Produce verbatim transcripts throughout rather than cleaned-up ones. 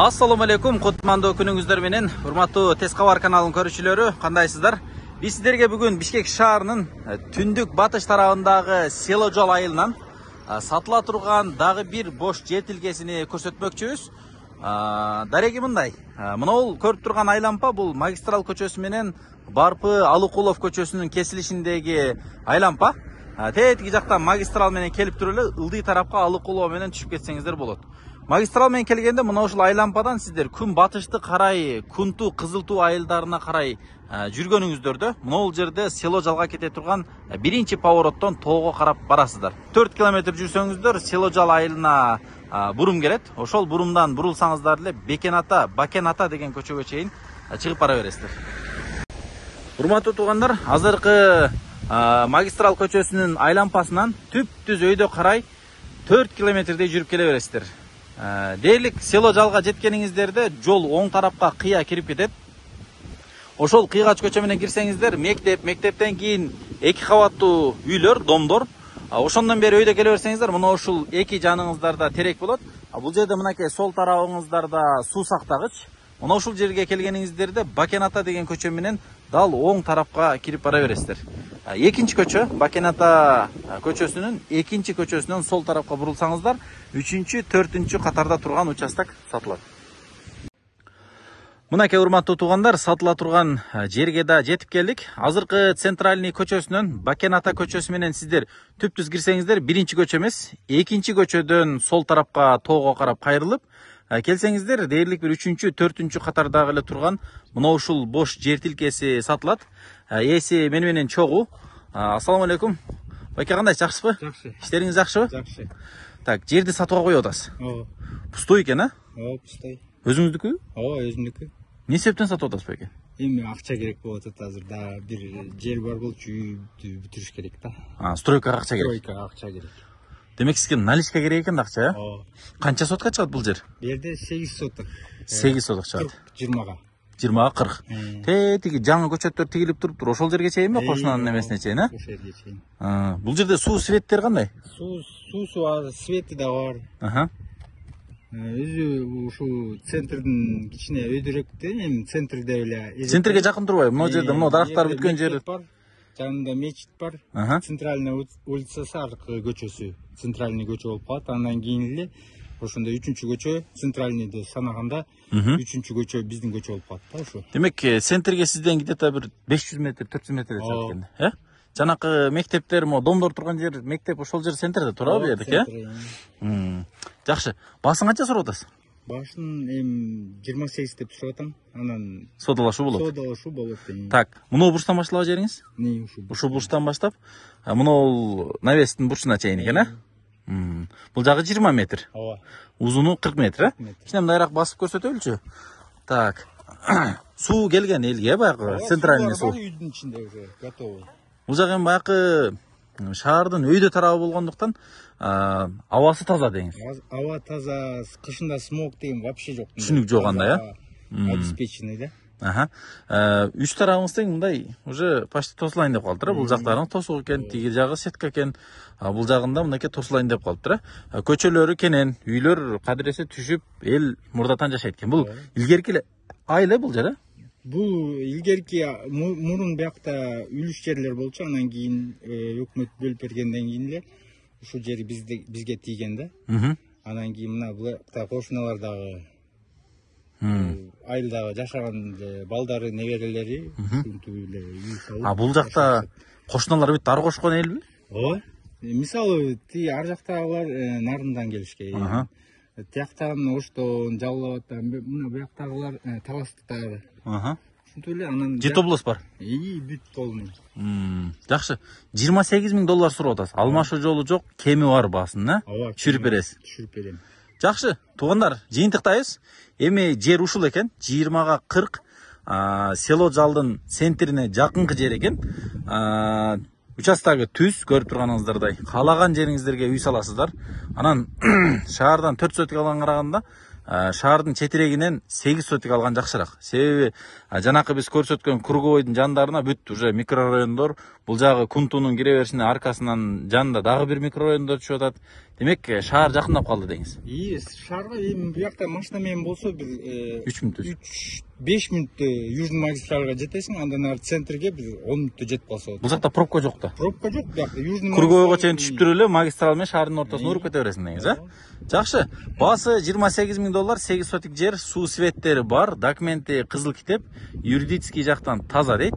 Assalamu alaikum, кутмандуу күнүңүздөр менен. Урматтуу Тез кабар каналынын көрүүчүлөрү, кандайсыздар? Биз сиздерге бүгүн Бишкек шаарынын түндүк батыш тарабындагы Село жол айылынан сатыла турган дагы бир бош жер тилкесини көрсөтмөкчүбүз. Дареги мындай. Мынау көрүп турган айлампа бул Магистрал көчөсү менен Барпы Алыкулов көчөсүнүн кесилишиндеги айлампа. Тетиги жактан магистрал менен келип туруп эле ылдый тарапка Алыкулов менен түшүп кетсеңиздер болот. Магистрал менен келгенде мына ушул айлампадан сиздер күн батышты карай, Кунту, Кызылтуу айылдарына карай жүргөнүңүздөрдө мына бул жерде Село жалга кете турган биринчи повороттон тоого карап барасыздар. төрт километр жүрсөңүздөр Село жал айылына бурум келет. Ошол бурумдан бурулсаңыздар эле Бекен ата, Бакен ата деген көчөгө чейин чыгып бара бересиздер. Урматтуу туугандар, азыркы магистрал көчөсүнүн айлампасынан түп-түз өйдө карай төрт километрдей жүрүп келе бересиздер. Дээрлик Село жалга жеткениңиздерде жол оң тарапка кыя кирип кетет. Ошол кыйгач көчө менен кирсеңиздер мектеп, мектептен кийин эки кабаттуу үйлөр, домдор. Ошондон бери өйдө келе берсеңиздер, мына ушул эки жаныңыздарда терек болот. Бул жерде мынакей сол тарабыңыздарда суу сактагыч. Мына ушул жерге келгениңиздерде Бакен ата деген көчө менен дал оң тарапка кирип бара бересиздер. Экинчи көчө, Бакен ата көчөсүнүн экинчи көчөсүнөн сол тарапка бурулсаңыздар, үчүнчү, төртүнчү катарда турган участок сатылат. Мынакей урматтуу туугандар, сатыла турган жерге да жетип келдик. Азыркы Центральный көчөсүнөн Бакен ата көчөсү менен сиздер түп-түз кирсеңиздер, биринчи көчө эмес, экинчи көчөдөн сол тарапка тоого карап кайрылып келсеңиздер, дээрлик бир үчүнчү, төртүнчү катардагы эле турган мына ушул бош жер тилкеси сатылат. Ээси мени менен чогуу. Ассаламу алейкум. Байке, кандай, жакшысызбы? Жакшы. Иштериңиз жакшыбы? Жакшы. Так, жерди сатууга коюп атасыз. Ооба. Пустой экен, а? Ооба, пустой. Өзүңүздүкү? Ооба, өзүмдүкү. Эмне себептен сатып атасыз байке? Эми акча керек болуп атат азыр, да бир жер бар болчу, үйдү бүтүрүш керек да. А, стройкага акча керек. Стройкага акча керек. Демек сизге наличка керек экен акча, э? Ооба. Канча сотка чыгат бул жер? Бу жерде сегиз соток. сегиз соток чыгат. жыйырмага. жыйырмага кырк. Тетиги жаңы көчөттөр тигилип туруптур. Ошол жерге чейинби, кошунанын эмесине чейин, э? Ошол жерге чейин. Бул жерде суу светтер кандай? Суу, суусу бар, свети да бар. Аха. Өзү ушул центрдин кичине өйдөрөктө, эми центрде эле. Центрге жакын турбайбы? Мына жерде мына дарактар бүткөн жер. Жанында мечит бар. Центральная улицасы аркы көчөсү. Центральный көчө болуп калат. Андан кийин эле ошондо үчүнчү көчө, центральныйды санаганда үчүнчү көчө биздин көчө болуп калат да ошо. Демек, центрге сизден где-то бир беш жүз метр, төрт жүз метр чыгат экен, э? Жанакы мектептер, мо домдор турган жер, мектеп ошол жер центрде турабы бу жердики, э? Жакшы. Башын канча сурап атасыз? Башын эми жыйырма сегиз деп сурап атам. Анан содалашуу болот. Содалашуу болот. Так, муну бурчтан башталган жериңиз? Не ушу? Ушу бурчтан баштап, муну навестин бурчуна чейин экен, э? Бул жагы жыйырма метр. Ооба. Узуну кырк метр, э? Кичине мындайраак басып көрсөтөлүчү. Так. Суу келген элге баягы центральный суу. Үйдүн ичинде уже готовый. Бул жак эми баягы шаардын өйдө тарабы болгондуктан абасы таза деңиз. Аба таза, кышында смог деген вообще жок. Түшүнүк жок анда, э? Обеспеченный да. Аха. Үч тарабыңыз тең мындай уже почти тосулайын деп калыптыр, э? Бул жактарың тосук экен, тиги жагы сетка экен. Бул жагында мынакей тосулайын деп калыптыр, э? Көчөлөрү кенен, үйлөр кадыресе түшүп, эл мурдатан жашайт экен. Бул илгерки айыл, бул жер, э? Бул илгерки мурун биякта үлүш жерлер болчу, андан кийин өкмөт бөлүп бергенден кийин эле ушул жер бизде бизге тийген да. Андан кийин мына буякта кошуналар дагы айылдагы жашаган балдары, неберелери ушинтип эле үй салып. А бул жакта кошуналар бүт ар кошкон элби? Ооба. Мисалы, ти ар жактагылар нарындан келишкен. Тияктан Оштон, Жалалабадтан, мына буяктагылар Таластыктагы. Аха. Ушинтип эле анан жети область бар. И бүт полный. Жакшы. жыйырма сегиз миң доллар сурап атасыз. Алмашуу жолу жок, кеми бар баасын, э? Түшүрүп бересиз. Түшүрүп берем. Жакшы. Туугандар, жыйынтыктайбыз. Эми жер ушул экен. жыйырмага кырк Село жалдын центрине жакынкы жер экен. Участогу түз, көрүп турганыңыздардай. Каалаган жериңиздерге үй саласыздар. Анан шаардан төрт сотик алган караганда шаардын четирегинен сегиз сотик алган жакшыраак. Себеби жанакы биз көрсөткөн круговойдун жандарына бүт уже микрорайондор, бул жагы Кунтунун кире беришине аркасынан жанында дагы бир микрорайондор түшүп атат. Демек шаар жакындап калды деңиз. И шаарга эми биякта машина менен болсо бир үч мүнөт үч беш мүнөттө южный магистралга жетесиң, андан ары центрге бир он мүнөттө жетип калса болот. Бул жакта пробка жок да. Пробка жок биякта. Южный Кургойго чейин түшүп туруп эле магистраль менен шаардын ортосуна уруп кете бересиң деңиз, э? Жакшы. Баасы жыйырма сегиз миң доллар, сегиз сотик жер, суу светтери бар, документи кызыл китеп, юридический жактан таза дейт.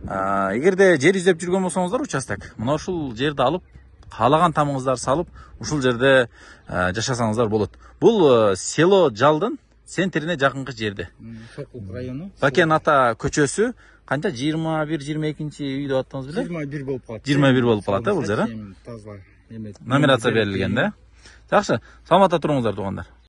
Эгерде жер издеп жүргөн болсоңуздар, участок, мына ушул жерди алып, каалаган тамыңыздарды салып, ушул жерде жашасаңыздар болот. Бул село Жалдын центрине жакынкы жерде. Сокулук району. Бакен ата көчөсү канча жыйырма бир жыйырма экинчи үй деп аттыңыз беле? жыйырма бир болуп калат. жыйырма бир болуп калат, э, бул жер, э? Таза эме. Номерация берилген да. Жакшы, саламатта туруңуздар туугандар.